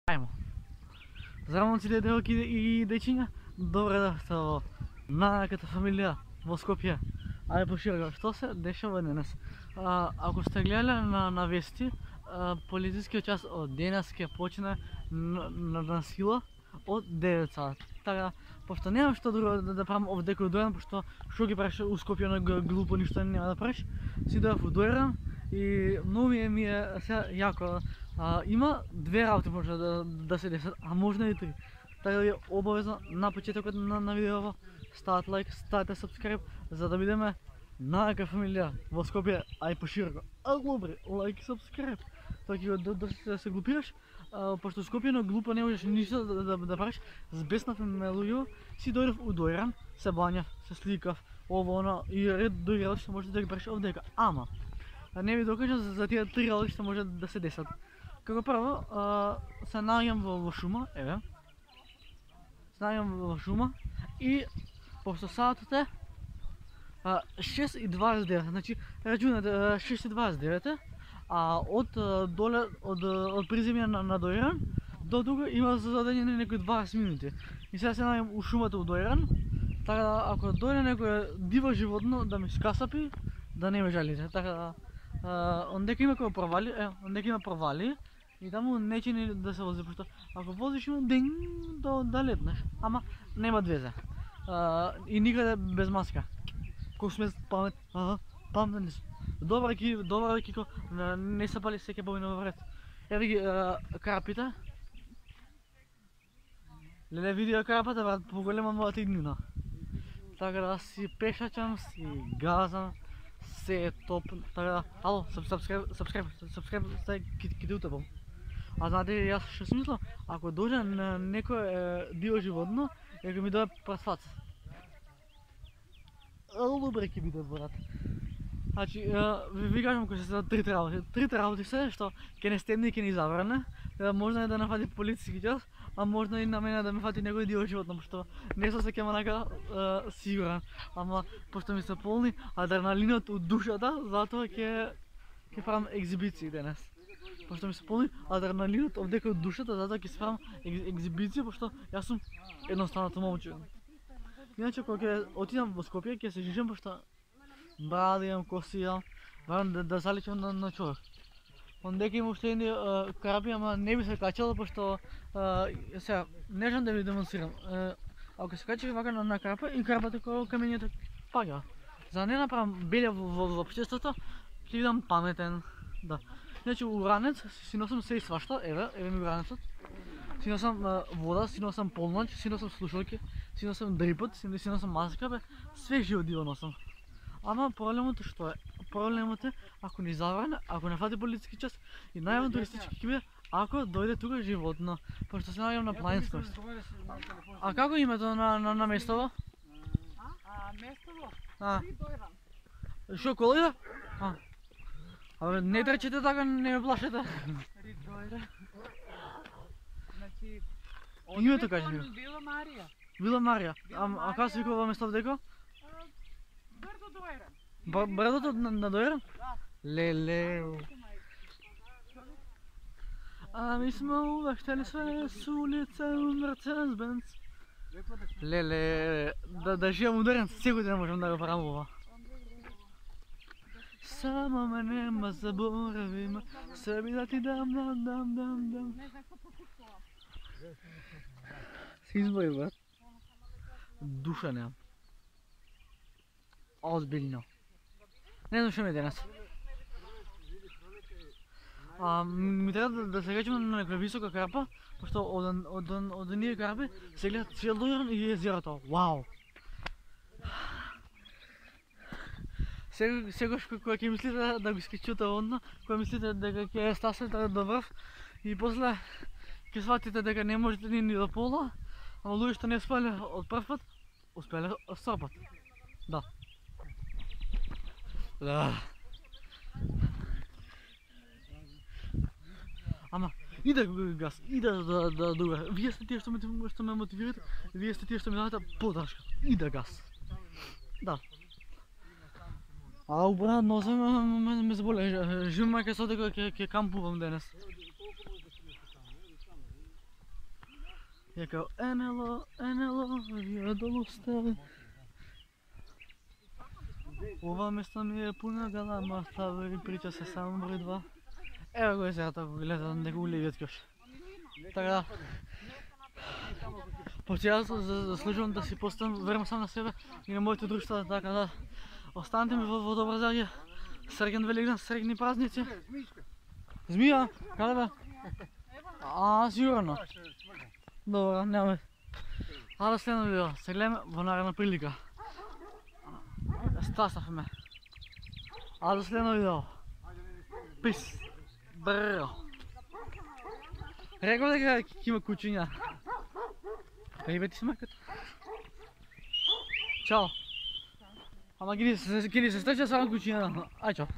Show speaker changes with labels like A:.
A: Ајмо. Здраво сите девојки и дечиња, добре дојдовте во најаката фамилија во Скопје. Ајде пошироко, што се дешава денес? Ако сте гледале на вести, полицискиот час од денес ќе почне на сила од 9 сат. Така, пошто немам што друго да правам овде кој дојдам, пошто што ги правиш у Скопје на глупо, ништо нема да правиш. Си дојдов у Дојран и многу ми е сега јако. Има две работи може да се десат, а можно и три. Така да ви обавезно на почетокот на видеото ставате лайк, ставате subscribe, за да бидеме најака фамилија во Скопје, а и пошироко. Добре, лайк и subscribe. Така ќе да се глупираш, пошто Скопје на глупо не можеш ништо да правиш. Збеснав ме луѓе, си дојдов у Дојран, се бањав, се сликав, ово оно и ред други работи што може да ги правиш овдека. Ама не ви докажам за тие три работи што може да се десат. Како прво, се наоѓам во шума, еве. Се наоѓам во шума и пошто саатот е 6:29, значи рачунате 6:29, а од доле од приземја на Дојран до тука има зададени некои 20 минути. И сега се наоѓам у шумата у Дојран, така да ако дојде некое диво животно да ми скасапи, да не ме жалите. Така да ондека има кој провали, ондека има провали. И таму не чини да се вози, пошто ако возиш има ден да летнеш, ама нема везе. И никаде без маска. Колку сме паметни сме. Добар екико, не се пали секе бовина во ред. Еве ги карапите. Леле видео карапата, брат, поголема мојата иднина. Така да си пешачам, си газам, се е топ. Така да, ало, subscribe, стај ки утепам. А знаете јас што си мислам? Ако дојде на некој диво животно, ако ми дојде пред фаца. Добре ќе биде, брат. Значи, ви кажам кои се трите работи. Трите работи се што ќе не стемне и ќе не забране. Можно е да нафати полициски час, а можно и на мене да ме фати некој диво животно, пошто не сум се ќе манака сигурен. Ама пошто ми се полни адреналинот од душата, затоа ќе правам екзибиции денес. Пошто ми се полни адреналинот овдека од душата, затоа ќе правам екзибиција, пошто јас сум едноставното момче. Иначе кога ќе отидам во Скопје, ќе се жижам, пошто брада имам, коси имам, барам да заличам на човек. Ондека има уште едни карапи, ама не би се качало, пошто сега не знам да ви демонстрирам. Ако се качи вака на карапа и карапата кога камењето паѓа. За да не направам белја во општеството, ќе бидам паметен. Да. Иначе уранец си носам се и свашта, еве ми уранецот. Си носам вода, си носам полноќ, си носам слушалки, си носам дрипот, си носам маска, све живо диво носам. Ама проблемот што е? Проблемот е ако ни забране, ако не фати полициски час и најавантуристички ќе биде ако дојде тука животно, пошто се наоѓам на планинскост. А како името на местово?
B: Местово?
A: Дојран. Шо колојда? Абе, не трчете така, не ме плашете.
B: Дојран. Значи,
A: името кажи ми.
B: Вила Марија.
A: Вила Марија. А како се викува местото дека?
B: Брдо Дојран.
A: Брдото на Дојран?
B: Да.
A: Леле. Ми сме увехтели све с улица Мерцедес-Бенц. Леле, да живам у Дојран, сигурно можам да го правам ова. Само ме нема, заборави ме, себе да ти дам.
B: Не знам како попуштувам.
A: Се избави, брат. Душа немам. Озбилно. Не знам што ми е денес. Ми треба да се качим на некоја висока карпа, пошто од оние карпи се гледа цел Дојран и езерото. Вау! Секогаш кога ќе мислите да го искачуте одно, кога мислите дека ќе стасете до врв и после ќе сватите дека не можете ни до пола, ама луѓе што не спале од прв пат, успеле од втор пат. Да. Ама, иде газ, иде да дуга. Вие сте тие што ме мотивирате, вие сте тие што ми дадете подршка. Иде газ. Да. Брат, нозе ме заболе. Живо мајка со дека ќе кампувам денес. Ја као Енело, вие долу сте. Ова место ми е пуна галама, стави прича се само број 2. Ево го е сега тако гледа некој улевиот кјош. Така да. Почти јас заслужувам да си поставам верам сам на себе и на моите друштва, така да останете ми во добра здравје. Среќен Великден, среќни празници. Змија? Каде бе? Сигурно. Добро, нема. А да следно видео, се гледаме во наредна прилика. Стасавме. А до следно видео. Пис. Бро. Рекол дека ќе има кучиња. Рибети смакат. Чао. Ама ги ни се стреча само кучиња. Ај чао.